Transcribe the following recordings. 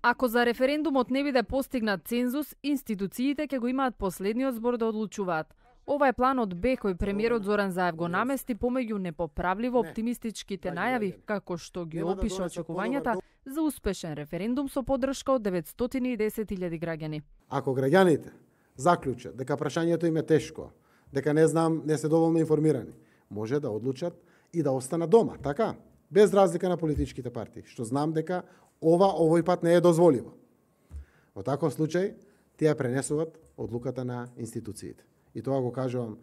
Ако за референдумот не биде постигнат цензус, институциите ќе го имаат последниот збор да одлучуваат. Ова е планот Б кој премиерот Зоран Заев го намести помеѓу непоправливо оптимистичките најави, како што ги опиша очекувањата за успешен референдум со поддршка од 910.000 граѓани. Ако граѓаните заклучат дека прашањето им е тешко, дека не се доволно информирани, може да одлучат и да останат дома, така? Без разлика на политичките партии, што знам дека овој пат не е дозволиво. Во таков случај, тие пренесуваат одлуката на институциите. И тоа го кажувам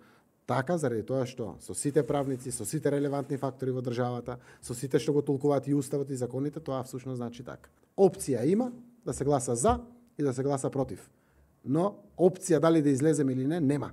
така, заради тоа што со сите правници, со сите релевантни фактори во државата, со сите што го толкуваат и уставот и законите, тоа всушност значи така. Опција има да се гласа за и да се гласа против. Но опција дали да излеземе или не, нема.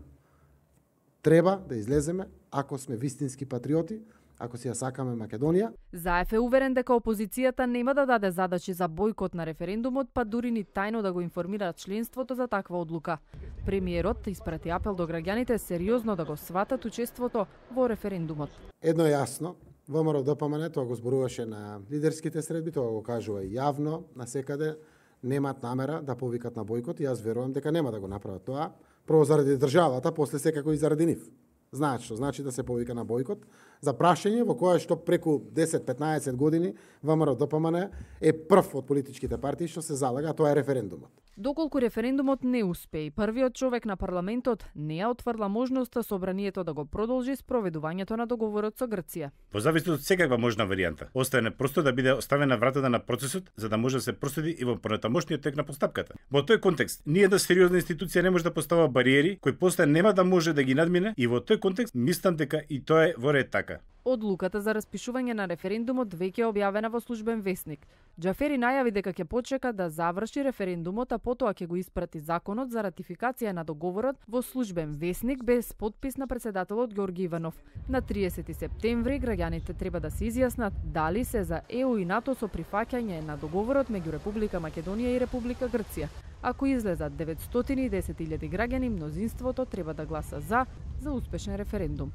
Треба да излеземе ако сме вистински патриоти, ако си ја сакаме Македонија. Заев е уверен дека опозицијата нема да даде задачи за бојкот на референдумот, па дури ни тајно да го информира членството за таква одлука. Премиерот испрати апел до граѓаните сериозно да го сватат учеството во референдумот. Едно е јасно, ВМРО-ДПМН тоа го зборуваше на лидерските средби, тоа го кажува и јавно, насекаде немаат намера да повикат на бојкот и јас верувам дека нема да го направат тоа, прво заради државата, после секако и заради нив. Знаат што значи да се повика на бојкот за прашање во кое што преку 10-15 години ВМРО-ДПМН е прв од политичките партии што се залага, тоа е референдумот. Доколку референдумот не успе и првиот човек на парламентот не ја отврла можноста собранието да го продолжи спроведувањето на договорот со Грција. Во зависност од секаква можна варијанта, остане просто да биде оставена вратата на процесот за да може да се проследи и во понатамошниот тек на постапката. Во тој контекст, ниедна сериозна институција не може да поставува бариери кои после нема да може да ги надмине и во тој контекст мислам дека и тоа е во ред така. Одлуката за распишување на референдумот веќе е објавена во службен весник. Џафери најави дека ќе почека да заврши референдумот, а потоа ќе го испрати законот за ратификација на договорот во службен весник без подпис на претседателот Ѓорги Иванов. На 30 септември граѓаните треба да се изјаснат дали се за ЕУ и НАТО со прифаќање на договорот меѓу Република Македонија и Република Грција. Ако излезат 910.000 граѓани, мнозинството треба да гласа за успешен референдум.